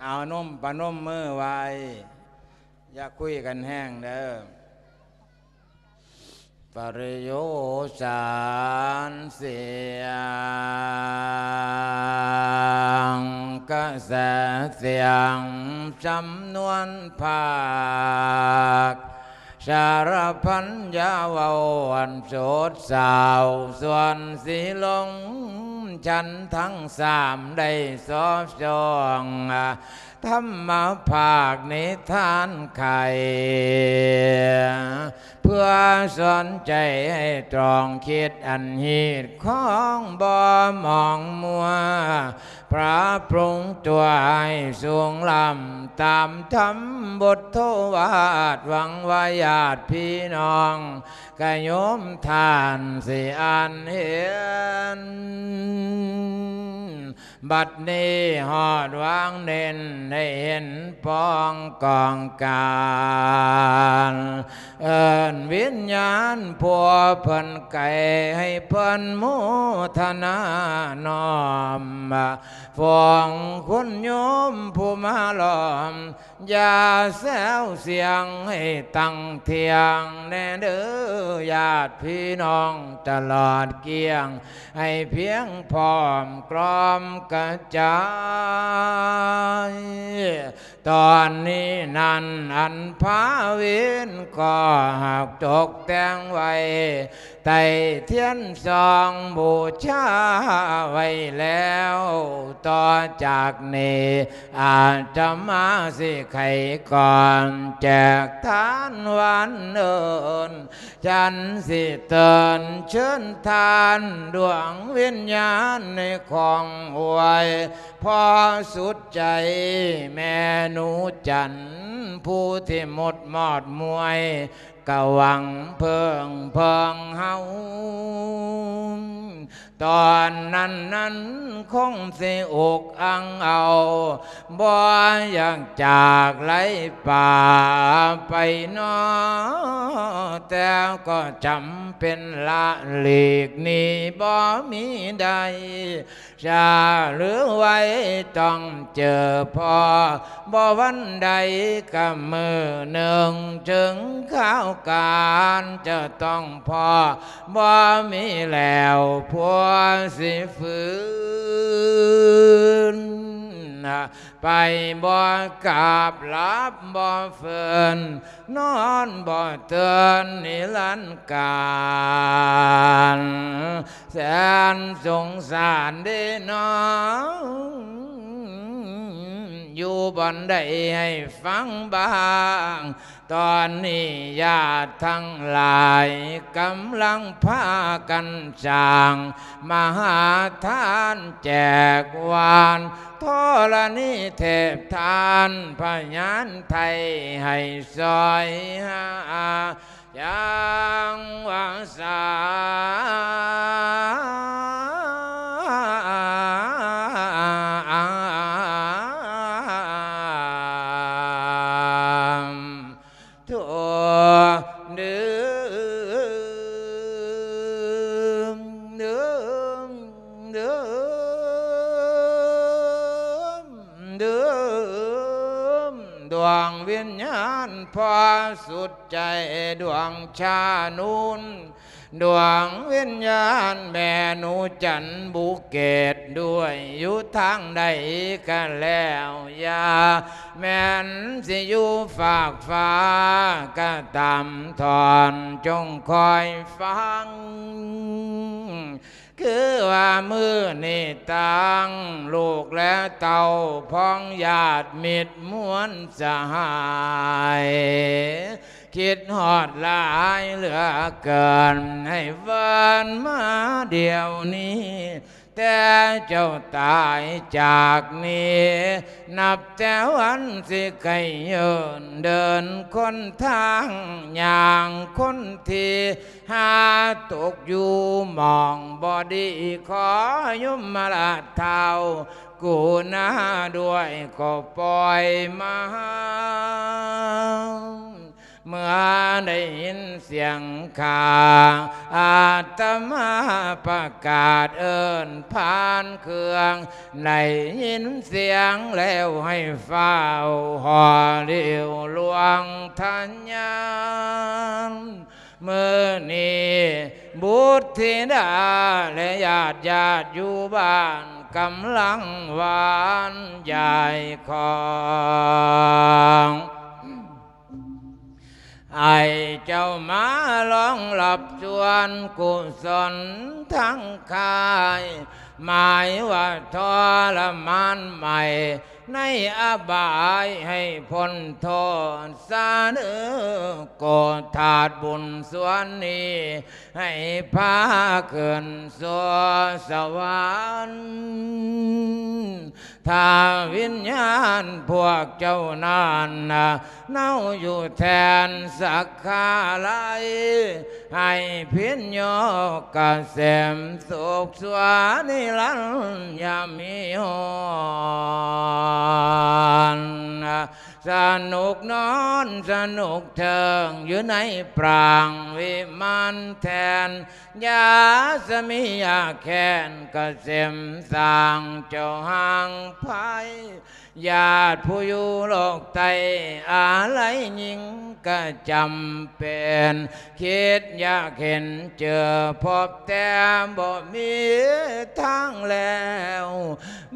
ເອົານົມປະນົມມືໄວ້ ຢ່າຄຸຍກັນແຮງເດີ. ປະໂຍສານເສຍງ ກະແສສຽງສຳນວນພາກ ສາລະພັນຢາເວົ້າອັນໂສດເສົ້າ ສ່ວນສີລົງ ຊັ້ນທັງສາມໄດ້ສອບສ່ອງ ທຳມະພາກນິທານໄຂ ເພື່ອສອນໃຈໃຫ້ຕອງຄິດອັນຮີດຄອງບໍ່ໝອງມົວ ປະປຸງຕົວໃຫ້ສູງລ້ຳຕາມທຳບົດໂທວາດ ຫວັງວ່າຍາດພີ່ນ້ອງກະໂຍມທ່ານຊິອ່ານເຫັນ. ບັດນີ້ຮອດວາງເນັ້ນ ໄດ້ເຫັນປອງກອງການ ເອີ້ນວິນຍານຜູ້ເພິ່ນໄກ ໃຫ້ເພິ່ນໂມທະນານ້ອມ ຟອງຄຸນໂຍມຜູ້ມາລ້ອມ ຢ່າແຊວສຽງໃຫ້ຕັ້ງທ່ຽງແດ່ເດີ ຍາດພີ່ນ້ອງຕະຫຼອດກ້ຽງ ໃຫ້ພຽງພ້ອມກລອມກະຈາຍ. ຕອນນີ້ນັ້ນອັນພາວິນກໍຫາກຕົກແຕ່ງໄວ້ ໄຕ້ທຽນສ່ອງບູຊາໄວ້ແລ້ວ ຕໍ່ຈາກນີ້ອາດຕະມາຊິໄຂກ່ອນ ແຈກທານຫວານເອີ້ນ ຈັນຊິເຕີນເຊີນທ່ານດວງວິນຍານໃນຂອງອວຍ ພໍສຸດໃຈແມ່ໜູຈັນ ຜູ້ທີ່ໝົດມອດມວຍ ກະຫວັງເພິ່ງເພິ່ງເຮົາ ຕອນນັ້ນນັ້ນຄົງຊິອົກອັ່ງເອົາ ບໍ່ຢາກຈາກໄລປ່າໄປນໍ ແຕ່ກໍຈຳເປັນລະຫຼີກໜີບໍ່ມີໃດ ຊາຫຼືໄວຕ້ອງເຈີພໍ ບໍ່ວັນໃດກະມື້ໜຶ່ງ ເຖິງຄາວການຈະຕ້ອງພໍ ບໍ່ມີແລ້ວຜົວຊິຟື້ນ ໄປບໍ່ກັບ ຫຼັບບໍ່ຟື້ນ ນອນບໍ່ເຕີນນິລັນການ ແສນສົງສານເດນອ ຢູ່ບ່ອນໃດໃຫ້ຟັງບ້າງ ຕອນນີ້ຍາດທັງຫຼາຍກຳລັງພາກັນສ້າງມະຫາທານແຈກຫວານ ທໍລະນີເທບທ່ານພະຍານໄທໃຫ້ຊ່ອຍຫາ ຢ່າງວ່າສາ ໂທ ດື່ມ ດື່ມ ດື່ມ ດວງວິນຍານພໍສຸດ ໃຈດວງຊານູນ ດວງວິນຍານແມ່ໜູຈັນບຸເກດດ້ວຍ ຢູ່ທາງໃດກະແລ້ວ ຢ່າແມ່ນຊິຢູ່ຟາກຟ້າກະຕາມ ທ່ອນຈົ່ງຄອຍຟັງ ຄືວ່າມື້ນີ້ຕ່າງລູກແລະເຕົ້າ ພ້ອງຍາດມິດມວນສະຫາຍ ຄິດຮອດຫຼາຍເຫຼືອເກີນ ໃຫ້ເອີ້ນມາດຽວນີ້ ແຕ່ເຈົ້າຕາຍຈາກນີ້ ນັບແຕ່ວັນຊິໄກເຫີນ ເດີນຄົນທາງຍ່າງຄົນທີ່ ຫາຕົກຢູ່ໝ່ອງບໍ່ດີ ຂໍຍົມມະລາດທ້າວ ກຸນາດ້ວຍກໍປ່ອຍມາ ເມື່ອໄດ້ຍິນສຽງຂ້າ ອາດຕະມາປະກາດເອີ້ນຜ່ານເຄື່ອງ, ໄດ້ຍິນສຽງແລ້ວໃຫ້ຟ້າວຫໍ່ລິ້ວຫຼວງທະຍານ. ມື້ນີ້ບຸດທິດາ ແລະ ຍາດຍາດຢູ່ບ້ານ ກຳລັງຫວ່ານຢາຍຂອງ ໃຫ້ເຈົ້າມາລອງຮັບສ່ວນກຸສົນທັງຄ້າຍ ໝາຍວ່າທໍລະມານໃໝ່ ໃນອະບາຍໃຫ້ພົ້ນໂທດສະເໜີ ໂກທາດບຸນສ່ວນນີ້ ໃຫ້ພາຂຶ້ນສູ່ສະຫວັນ. ຖ້າວິນຍານພວກເຈົ້ານັ້ນນະ ເນົາຢູ່ແທນສັກຄາໄລ ໃຫ້ພິນໂຍກະເສມສຸກຊົ່ວນິລັນ ຢ່າມີຮ້ອນ. ສະໜຸກນອນສະໜຸກເທີງ ຢູ່ໃນປາງວິມານແທ່ນ ຢ່າສະມີຢາກແຄ້ນ ກະເສມສ້າງເຈົ້າຫ່າງໄພ ຍາດຜູ້ຢູ່ໂລກໃຕ້ ອາໄລຍິງກະຈຳເປັນ ຄິດຢາກເຫັນເຈີພົບແຕ່ບໍ່ມີທາງແລ້ວ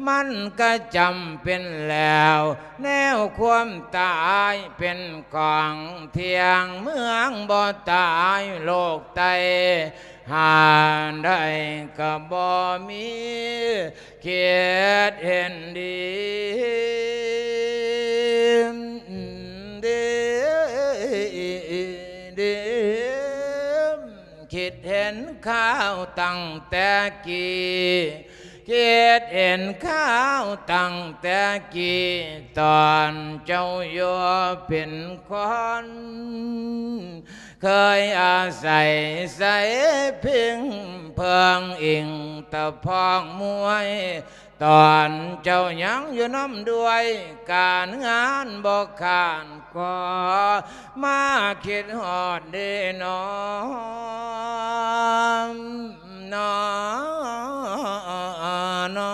ມັນກະຈຳເປັນແລ້ວ ແນວຄວາມຕາຍເປັນຂອງທ່ຽງ ເມືອງບໍ່ຕາຍໂລກໄຕ້ ຫາໄດ້ກະບໍ່ມີ ຄິດເຫັນດີ ດີ ດີ ຄິດເຫັນຂ່າວຕັ້ງແຕ່ກີ້ ຄິດເຫັນຂ່າວຕັ້ງແຕ່ກີ້ ຕອນເຈົ້າຢູ່ເປັນຄົນ ເຄີຍອາໄສໃສພິງເພິ່ງອີງຕະພອງມວຍ ຕອນເຈົ້າຍັງຢູ່ນຳດ້ວຍ ການງານບໍ່ຂາດກໍມາຄິດຮອດເດນໍ ນໍ ນໍ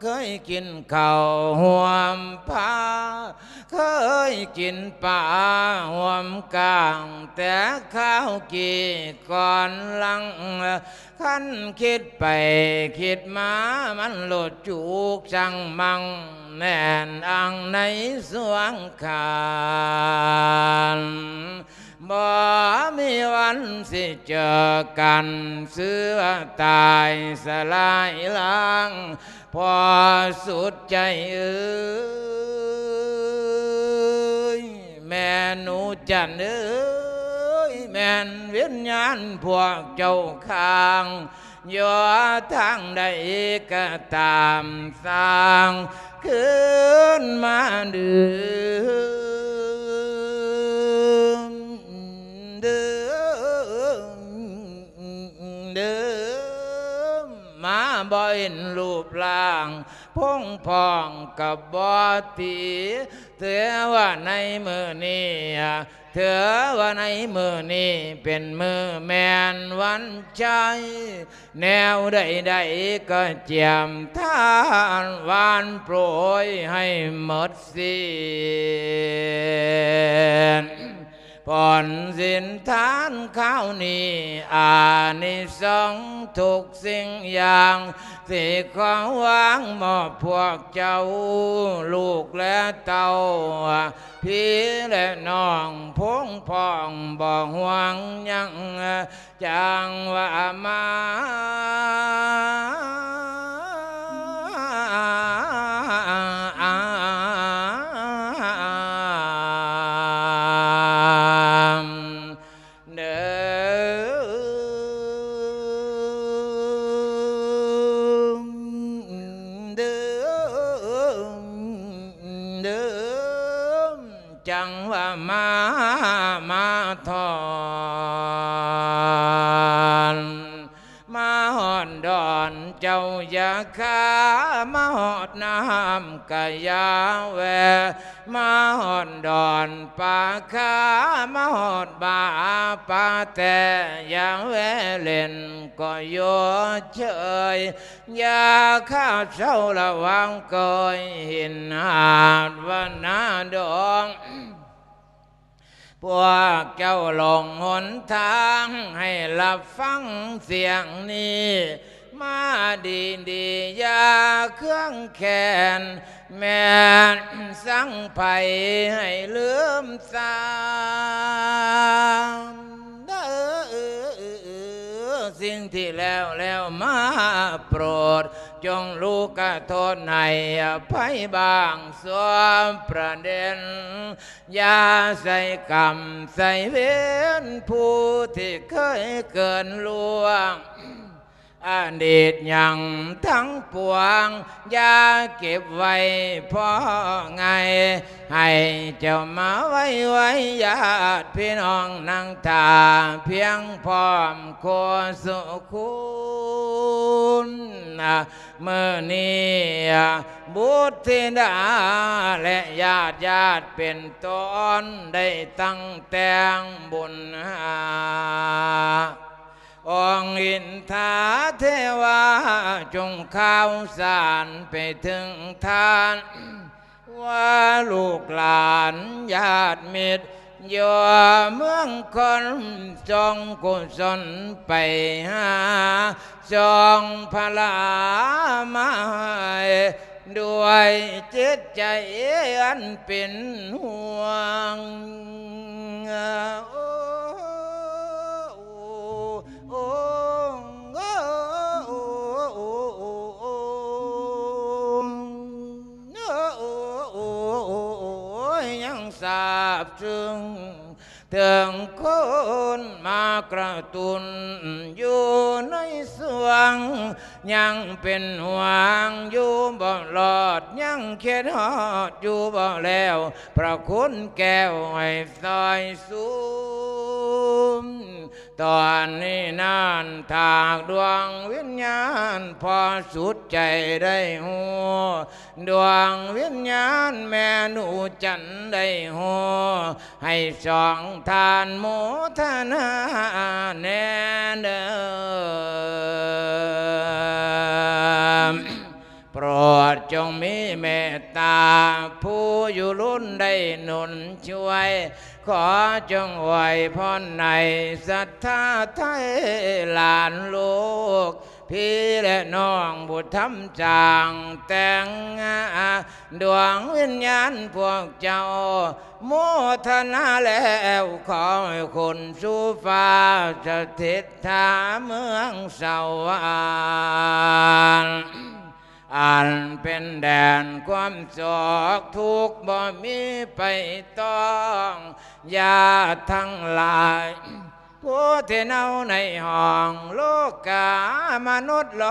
ເຄີຍກິນເຂົ້າຮ່ວມພາ ເຄີຍກິນປາຮ່ວມກ້າງ ແຕ່ຄາວກີ້ກ່ອນຫຼັງ ຄັນຄິດໄປຄິດມາ ມັນໂລດຈູກຊັງມັງ ແໜ້ນອັງໃນສວງຄານ ບໍ່ມີວັນຊິເຈີກັນ ເສືອຕາຍສະລາຍລ້າງ ພໍສຸດໃຈເອີຍ ແມ່ໜູຈັນເອີຍ ແມ່ນວິນຍານພວກເຈົ້າຄ້າງ ຢູ່ທາງໃດກະຕາມຊ່າງ ຄືນມາເດີ ເດີ ເດີ ມາບໍ່ເຫັນຮູບຮ່າງ ພົງພອງກະບໍ່ຕີ ເທື່ອວ່າໃນມື້ນີ້ ເທື່ອວ່າໃນມື້ນີ້ເປັນມື້ແມ່ນວັນໄຊ ແນວໃດໆກໍຈຽມທານຫວານໂປຍໃຫ້ໝົດສິ້ນ ຜົນສິນທານຄາວນີ້ ອານິສົງທຸກສິ່ງຢ່າງ ທີ່ຂໍວາງມອບພວກເຈົ້າ ລູກແລະເຕົ້າ ພີ່ແລະນ້ອງ ພົງພ້ອງບໍ່ຫ່ວງຫຍັງ ຈັ່ງວ່າມາ ເດີ ເດີ ເດີ ຈັ່ງວ່າມາ ມາທອນ ມາຮອນດອນເຈົ້າຢ່າ ຂ້າມາຮອດນ້ຳກະຢ່າແວ່ ມາຮອດດອນປາ ຂ້າມາຮອດບາປາແຕ່ ຢ່າແວ່ຫຼິ້ນກໍຢູ່ເຊີຍ ຢ່າຂ້າເຊົາລະວັງເກີຍ ຫີນຫາດວັນນາດອງ. ພວກເຈົ້າຫຼົງຫົນທາງ ໃຫ້ຮັບຟັງສຽງນີ້ ມາດີດີ ຢ່າເຄືອງແຄ້ນ ແມ່ນສັງໄພໃຫ້ລືມຊາ ເດີ ສິ່ງທີ່ແລ້ວແລ້ວມາໂປດ ຈົ່ງລູກກະໂທດໃຫ້ອະໄພບາງສ່ວນປະເດັນ ຢ່າໃສ່ກຳໃສ່ເວນ ຜູ້ທີ່ເຄີຍເກີນລ່ວງ ອະດີດຫຍັງທັງປວງ ຢ່າເກັບໄວ້ພໍງ່າຍ ໃຫ້ເຈົ້າມາໄວໆ ຍາດພີ່ນ້ອງນັ່ງຖ້າພຽງພ້ອມຄູ່ສູ່ຄົນ. ມື້ນີ້ບຸດທິດາ ແລະ ຍາດຍາດເປັນຕົ້ນ ໄດ້ຕັ້ງແຕ່ງບຸນຫາ ອົງອິນທາເທວາ ຈົ່ງຂ່າວສານໄປເຖິງທ່ານ ວ່າລູກຫຼານຍາດມິດ ຢູ່ເມືອງຄົນ ສົ່ງກຸສົນໄປຫາ ສົ່ງພະລາມາໃຫ້ ດ້ວຍຈິດໃຈອັນເປັນຫ່ວງ. ໂອ້ ໂອ້ ໂອ້ ຍັງຊາບຊຶ້ງ ເຖິງຄົນມາກະຕຸ້ນຢູ່ໃນສວງ ຍັງເປັນຫ່ວງຢູ່ບໍ່ລອດ ຍັງຄິດຮອດຢູ່ບໍ່ແລ້ວ ພະຄຸນແກ້ວໃຫ້ຊ່ອຍຊູມ. ຕອນນີ້ນັ້ນ ຖ້າດວງວິນຍານພໍສຸດໃຈໄດ້ຮູ້ ດວງວິນຍານແມ່ໜູຈັນໄດ້ຮູ້ ໃຫ້ສອງທ່ານໂມທະນາແດ່ເດີ. ໂປດຈົ່ງມີເມດຕາ ຜູ້ຢູ່ລຸນໄດ້ໜູນຊ່ວຍ ຂໍຈົ່ງອວຍພອນໃຫ້ສັດທາໄທຫຼານລູກ ພີ່ແລະນ້ອງບຸດທຳສ້າງແຕ່ງ ດວງວິນຍານພວກເຈົ້າໂມທະນາແລ້ວ ຂໍໃຫ້ຂຶ້ນສູ່ຟ້າສະຖິດຖາເມືອງສະຫວັນ ອັນເປັນແດນຄວາມໂສກທຸກບໍ່ມີໄປຕ້ອງ ຍາດທັງຫຼາຍ ຜູ້ທີ່ເນົາໃນຫ້ອງໂລກາມະນຸດໂລ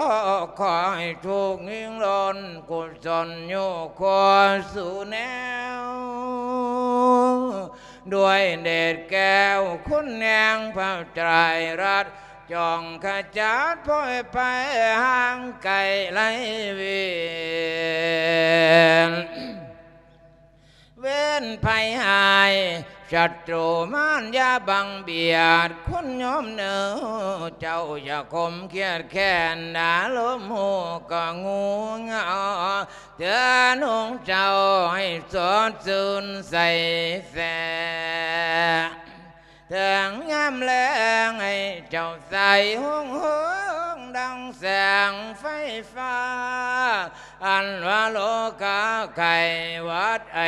ກ ຂໍໃຫ້ທຸກຍິ່ງລົ້ນ ກຸສົນຢູ່ຄູ່ສູ່ແນວ ດ້ວຍເດດແກ້ວຄຸນແຮງພະໄຕຣະ ຈົ່ງຂະຈັດພອຍໄພຫ່າງໄກໄລເວນ ເວນໄພຮ້າຍ ສັດຕູມານຢ່າບັງບຽດ ຄຸນໂຍມເນີ ເຈົ້າຢ່າຄົມຄຽດແຄ້ນ ອາລົມຮູ້ກໍງູເຫງົາ ເຕືອນຫົງເຈົ້າໃຫ້ສົດຊື່ນໃສແສ ເຖິງຍາມແລງໃຫ້ເຈົ້າໃສຮຸ່ງເຮືອງດັ່ງແສງໄຟຟ້າ ອັນວ່າໂລກາໄຂ້ຫວັດໄອ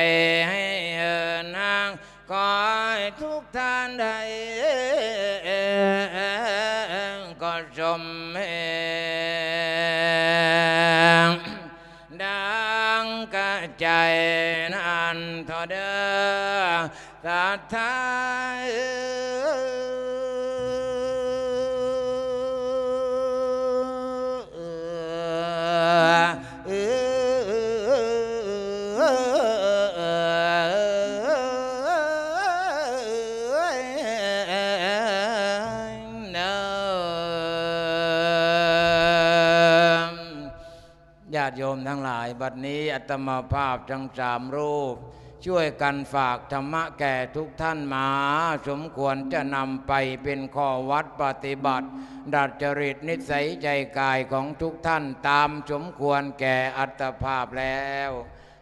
ໄຫ້ເຫີນຮາງ ຂໍໃຫ້ທຸກທ່ານໄດ້ກໍສົມແຮງ ດັ່ງກະໃຈນັ້ນເທາະເດີ ສາທາ บัดนี้อาตมาภาพทั้งสามรูป ช่วยกันฝากธรรมะแก่ทุกท่านมา สมควรจะนำไปเป็นข้อวัดปฏิบัติ ดัดจริตนิสัยใจกายของทุกท่าน ตามสมควรแก่อัตภาพแล้ว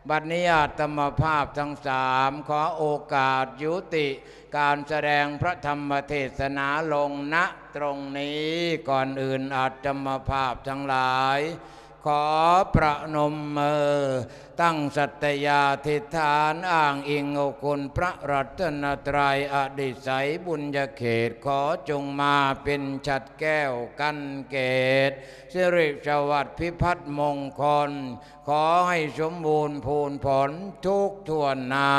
บัดนี้อาตมาภาพทั้งสาม ขอโอกาสยุติการแสดงพระธรรมเทศนาลง ณ ตรงนี้ ก่อนอื่นอาตมาภาพทั้งหลาย ขอประนมมือ ตั้งสัตยาธิษฐานอ้างอิงเอาคุณพระรัตนตรัย อดิไสยบุญญาเขต ขอจงมาเป็นฉัตรแก้วกันเกต สิริสวัสดิ์พิพัฒน์มงคล ขอให้สมบูรณ์พูนผลทุกถ้วนหน้า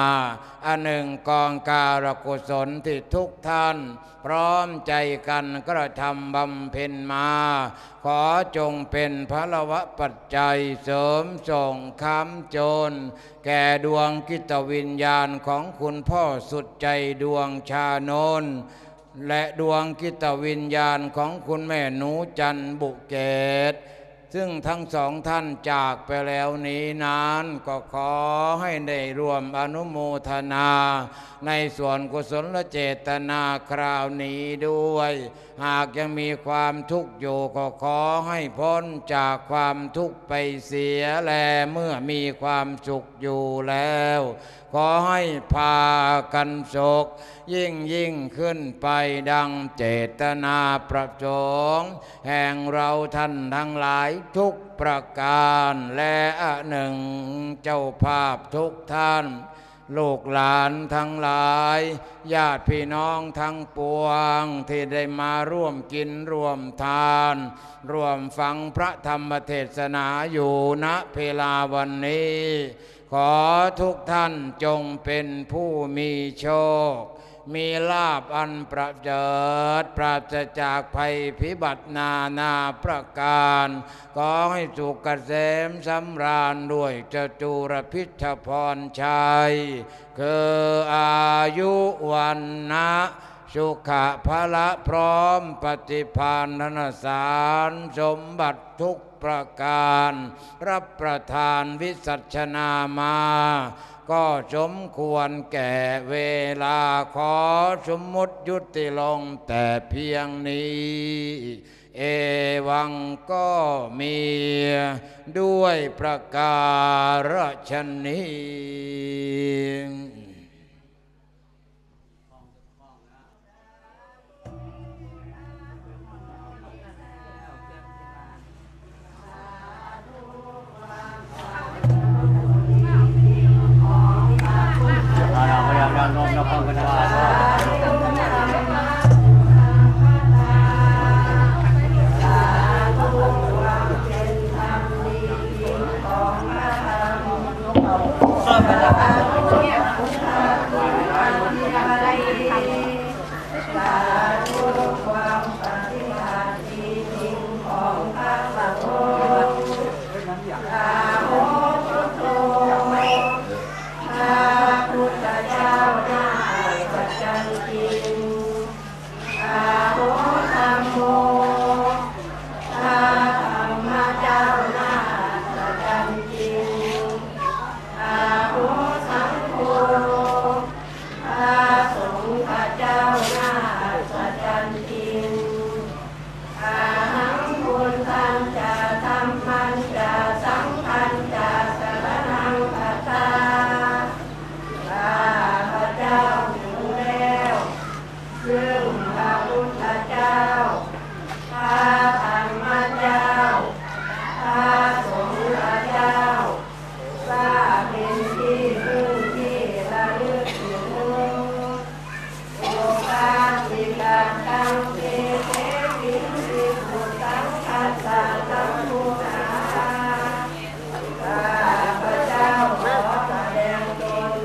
อันหนึ่งกองการกุศลที่ทุกท่าน พร้อมใจกันกระทำบำเพ็ญมา ขอจงเป็นพลวปัจจัยเสริมส่งค้ำจุน แก่ดวงจิตวิญญาณของคุณพ่อสุดใจดวงชานนท์ และดวงจิตวิญญาณของคุณแม่หนูจันทร์บุเกต ซึ่งทั้งสองท่านจากไปแล้วนี้นั้น ก็ขอให้ได้ร่วมอนุโมทนาในส่วนกุศลเจตนาคราวนี้ด้วย หากยังมีความทุกข์อยู่ ก็ขอให้พ้นจากความทุกข์ไปเสีย และเมื่อมีความสุขอยู่แล้ว ขอให้พากันสุขยิ่งยิ่งขึ้นไปดังเจตนาประสงค์แห่งเราท่านทั้งหลายทุกประการ และอันหนึ่งเจ้าภาพทุกท่าน ลูกหลานทั้งหลาย ญาติพี่น้องทั้งปวงที่ได้มาร่วมกินร่วมทาน ร่วมฟังพระธรรมเทศนาอยู่ ณ เวลาวันนี้ ขอทุกท่านจงเป็นผู้มีโชค มีลาภอันประเสริฐ ปราศจากภัยพิบัตินานาประการ ขอให้สุขเกษมสำราญด้วยจตุรพิธพรชัย คืออายุ วรรณะ สุขะ พละ พร้อมปฏิภาณธนสารสมบัติทุกประการ รับประทานวิสัชนามา ก็สมควรแก่เวลา ขอสมมุติยุติลงแต่เพียงนี้ เอวังก็มีด้วยประการฉะนี้ ซึ่งพระพุทธเจ้า พระธรรมเจ้า พระสงฆ์เจ้า ว่าเป็นที่พึ่งที่ระลึกถึง โอภาสิกัตตัง เตเต ปินสิสุตัง คัสสะ สัมพุทธา ข้าพเจ้าขอแสดงตน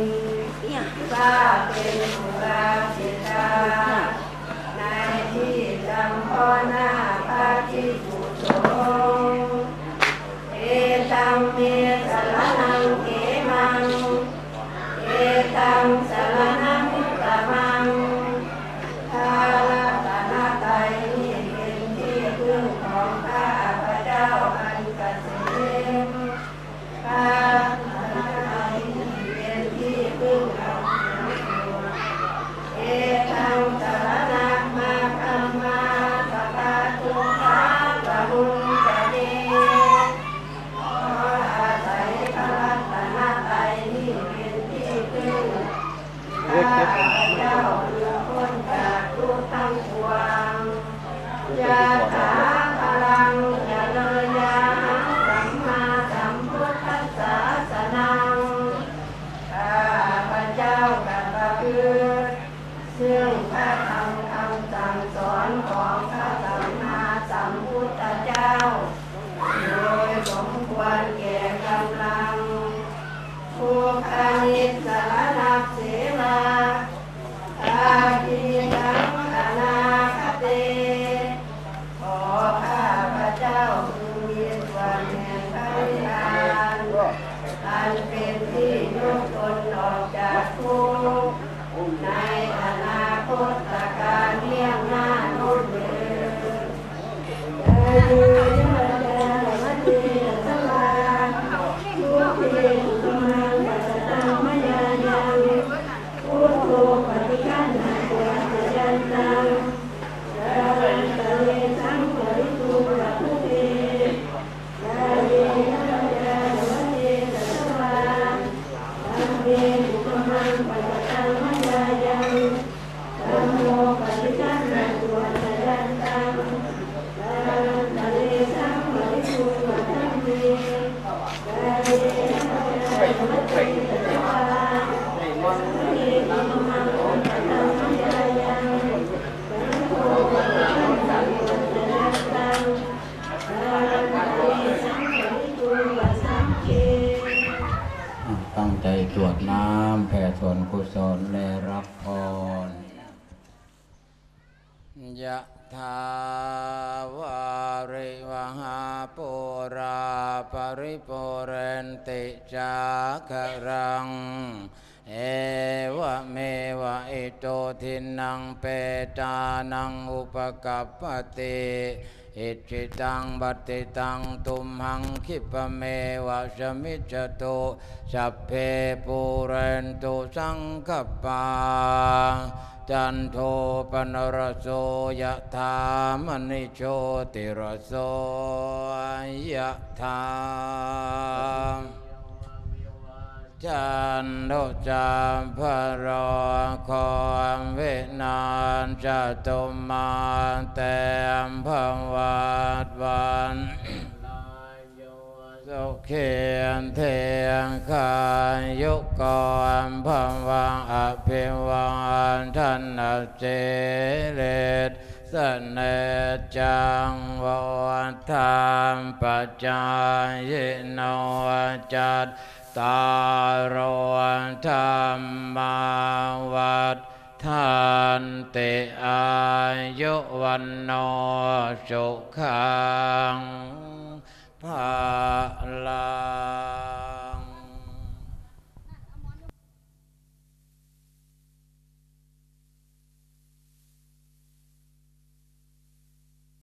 ว่าเป็นอุบาสิกา ในที่จำเพาะหน้าพระภิกษุสงฆ์ เอตัมเมสะระณังเขมัง เอตัมสะระณังอุตตะมัง พระรัตนตรัยนี้เป็นที่พึ่งของข้าพเจ้าอันเกษม ข้า ຂ້າພະເຈົ້າ ເພື່ອພົ້ນຈາກທຸກທັງປວງ. ຍະຖາ ພະລັງ ຈະເລີຍະຫັງ ສຳມາສຳພຸດທັດສະສະນັງ. ຂ້າພະເຈົ້າກໍປະພຶດ ເຊິ່ງພະທຳຄຳສັ່ງສອນຂອງພະສຳມາສຳພຸດທະເຈົ້າ ໂດຍສົມຄວນແກ່ກຳລັງ. ບຸບພະນິດສະລະນັກເສວາ ອະດີຕັງອະນາຄະເຕ ຂໍຂ້າພະເຈົ້າ ຄືມີສ່ວນແຫ່ງພະນິບພານ ອັນເປັນທີ່ຍົກຕົນອອກຈາກທຸກ ໃນອະນາຄົດຕະການເບື້ອງໜ້າໂນ້ນເທີ້ນ. ກາເຍນະວາຈາ ວະເຈຕະສະວາ ສຸເຂ ກຸມະມັງ ປະຊະຕັງ ມະຍາຍັງ ພຸດໂທ ປະຕິຄັນນະ ໂຕ ອາຈາຍັນຕັງ ກາລັນຕະເລ ສັງຄະລິຕຸງ ວັດຖຸເຕ. ກາເຍນະວາຈາ ວະເຈຕະສະວາ ທຳເມ ກຸມະມັງ ປະຊະຕັງ ມະຍາຍັງ ທຳໂມ ປະຕິຄັນນະ ໂຕ ອາຈາຍັນຕັງ ກາລັນຕະເລ ສັງຄະລິຕຸງ ວັດທຳເມ. ກາເຍນະວາຈາ ວະເຈຕະສະວາ ທຳເມ ກຸມະມັງ ປະຊະຕັງ ມະຍາຍັງ ຕັ້ງໃຈກວດນ້ຳ ແຜ່ສ່ວນກຸສົນ ແລະ ຮັບພອນ. ຍະຖາ ວາລິວະຫາ ປູຣາ ປະລິປູເຣນຕິ ສາຄະລັງ ເອວະເມວະ ອິໂຕ ທິນນັງ ເປຕານັງ ອຸປະກັບປະຕິ ອິດຖິຕັງ ປັດຖິຕັງ ຕຸມຫັງ ຂິບປະເມວະ ສະມິດສະຕຸ ສັບເພ ປູເຣນຕຸ ສັງກະປາ ຈັນໂທ ປະນະລະໂສ ຍະຖາ ມະນິ ໂຊຕິລະໂສ ຍະຖາ ຈັນໂທ ສັບພະໂລໂຄ ວິນາສະຕຸ ມາເຕ ພະວັດວັນ ສຸຂີ ທີຄາຍຸໂກ ພະວັງ ອະພິວາທະນະ ສີລິສ ສະເນຈັງ ວຸດທັງ ປະຈາຍິໂນ ຈັດຕາໂລ ທຳມາ ວັດທັນຕິ ອາຍຸ ວັນໂນ ສຸຂັງ ພະລັງ.